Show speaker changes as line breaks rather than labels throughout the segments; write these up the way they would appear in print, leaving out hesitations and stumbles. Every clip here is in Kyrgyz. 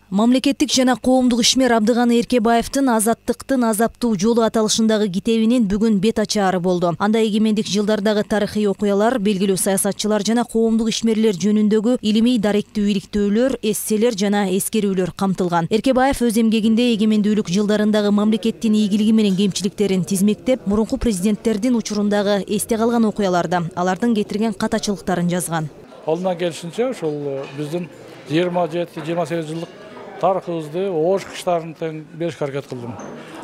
Мамлекеттик жана коомдук ишмер Абдыган Эркебаевдин азаттыктын азаптуу жолу аталышындагы китебинин бүгүн бет ачаары болду. Анда эгемендик жылдардагы тарыхый окуялар, белгилүү саясатчылар жана коомдук ишмерлер жөнүндөгү илимий даректүү иликтөөлөр, эсселер жана эскерүүлөр камтылган. Эркебаев өз эмгегинде эгемендүүлүк жылдарындагы мамлекеттин ийгилиги менен кемчиликтерин тизмектеп, мурунку президенттердин учурундагы эсте калган окуяларды, алардын кетирген катачылыктарын жазган.
Колунан келишинче ушул биздин 27-28 жылдык тарыхыбызды оош кыштарын тең беришке аракет кылдым.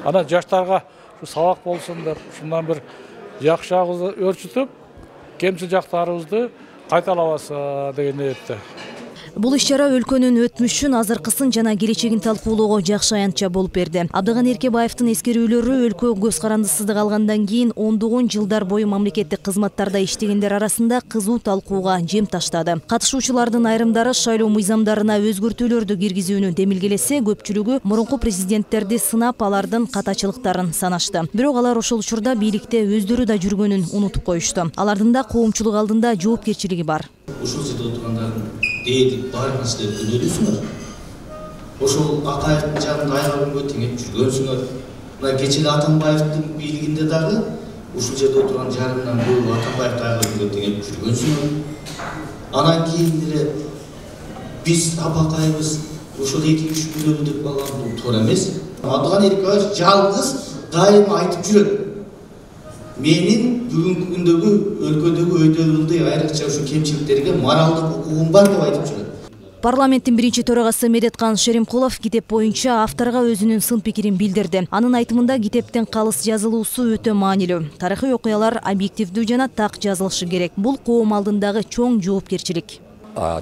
Анан жаштарга сабак болсун деп, ушундан бир жакшы жагыбызды өрчүтүп, кемчил жактарыбызды кайталабаса деген ниетте.
Бул иш-чара өлкөнүн өтмүшүн, азыркысын жана келечегин талкуулоого жакшы аянтча болуп берди. Абдыган Эркебаевдин эскерүүлөрү өлкө көз карандысыздык алгандан кийин ондогон жылдар бою мамлекеттик кызматтарда иштегендер арасында кызуу талкууга жем таштады. Катышуучулардын айрымдары шайлоо мыйзамдарына өзгөртүүлөрдү киргизүүнү демилгелесе, көпчүлүгү мурунку президенттерди сынап, алардын катачылыктарын санашты. Бирок алар ошол учурда бийликте өздөрү да жүргөнүн унутуп коюшту. Алардын да коомчулук алдында жоопкерчилиги бар.
Ушул жерде отургандардын дээдик баардык нерселерди күнөөлөйсүңөр. Ошол Акаевдин жагында айга теңеп жүргөнсүңөр. Мына кечээ Атамбаевдин бийлигинде дагы ушул жерде отурган жарымдан көбү Атамбаевди айга теңеп жүргөнсүңөр. Анан кийин эле биз апакайбыз ошол 2-3 күнөлүү деп калган бул туура эмес. Абдыган Эркебаев жалгыз дайыма айтып жүрөт. Менин бүгүнкү күндөгү өлкөдөгү өйдөлүлдү айрыкча ушу кемчиликтерге моралдык укугум бар деп айтып жүрөт.
Парламенттин биринчи төрагасы Медеткан Шеримкулов китеп боюнча авторго өзүнүн сын пикирин билдирди. Анын айтымында китептин калыс жазылуусу өтө маанилүү. Тарыхый окуялар объективдүү жана так жазылышы керек. Бул коом алдындагы чоң жоопкерчилик.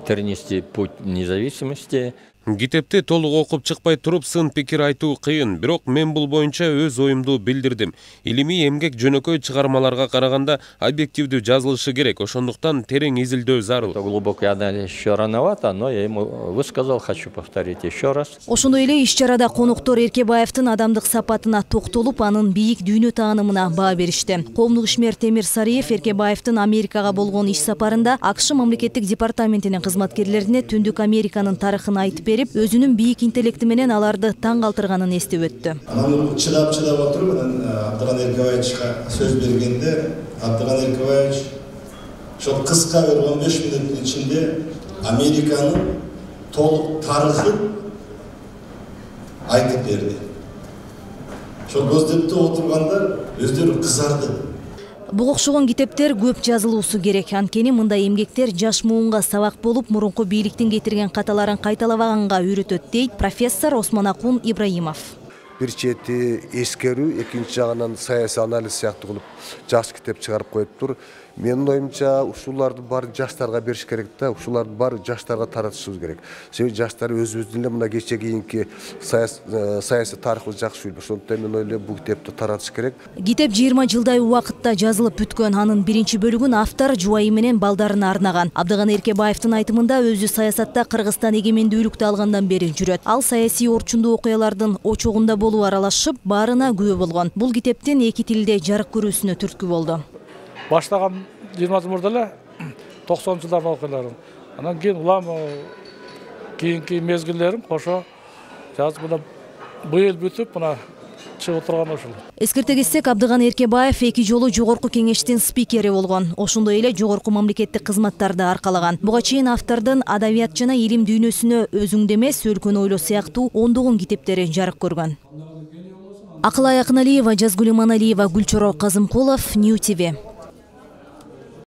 Тернисти путь независимости.
Китепти толук окуп чыкпай туруп сын пикир айтуу кыйын, бирок мен бул боюнча өз оюмду билдирдим. Илимий эмгек жөнөкөй чыгармаларга караганда объективдүү жазылышы керек, ошондуктан терең изилдөө зарыл.
Глубокий анализ еще рановато, но я ему высказал, хочу повторить еще раз.
Ошондой эле иш-чарада конуктор Эркебаевдин адамдык сапатына токтолуп, анын бийик дүйнө таанымына баа беришти. Коомдук ишмер Темир Сариев Эркебаевдин Америкага болгон иш сапарында АКШ мамлекеттик департаментинин кызматкерлерине Түндүк Американын тарыхын айтып берип, өзүнүн бийик интеллекти менен аларды таң калтырганын эстеп өттү.
Анан чыдап отуруп, Абдыган Эркебаевичке сөз бергенде, Абдыган Эркебаевич ошол кыска 15 мүнөттүн ичинде Американын толук тарыхын айтып берди. Ошол көздөптө отургандар өздөрү кызарды.
Буга окшогон китептер көп жазылуусу керек. Анткени мындай эмгектер жаш муунга сабак болуп, мурунку бийликтин кетирген каталарын кайталабаганга үйрөтөт, дейт профессор Осмонакун Ибраимов.
Бир чети эскерүү, экинчи жагынан саясий анализ сыяктуу кылып жакшы китеп чыгарып коюптур. Менин оюмча ушуларды баарын жаштарга бериш керек да, ушуларды баарын жаштарга таратышыбыз керек. Себеби жаштар өзүбүздүн эле мына кече кийинки саясий тарыхыбызды жакшы билет. Ошондуктан мен ойлойм бул китепти таратыш керек.
Китеп 20 жылдай убакытта жазылып бүткөн. Анын биринчи бөлүгүн автор жубайы менен балдарына арнаган. Абдыган Эркебаевдин айтымында өзү саясатта Кыргызстан эгемендүүлүктү алгандан бери жүрөт. Ал саясий орчундуу окуялардын очогунда болуп аралашып, баарына күбө болгон. Бул китептин эки тилде жарык көрүүсүнө түрткү болду.
Баштаган 20 жыл мурда эле 90 жылдардын окуяларын. Анан кийин улам кийинки мезгиллерим кошо жазып мына быйыл бүтүп мына чыгып турган ушул.
Эскерте кетсек, Абдыган Эркебаев 2 жолу жогорку кеңештин спикери болгон. Ошондой эле жогорку мамлекеттик кызматтарды аркалаган. Буга чейин автордун адабият жана илим дүйнөсүнө өзүңдө эмес, өлкөнү ойло сыяктуу ондогон китептери жарык көргөн. Акылай Акыналиева, Жазгүл Иманалиева, Гүлчоро Казымкулов, Нью ТВ.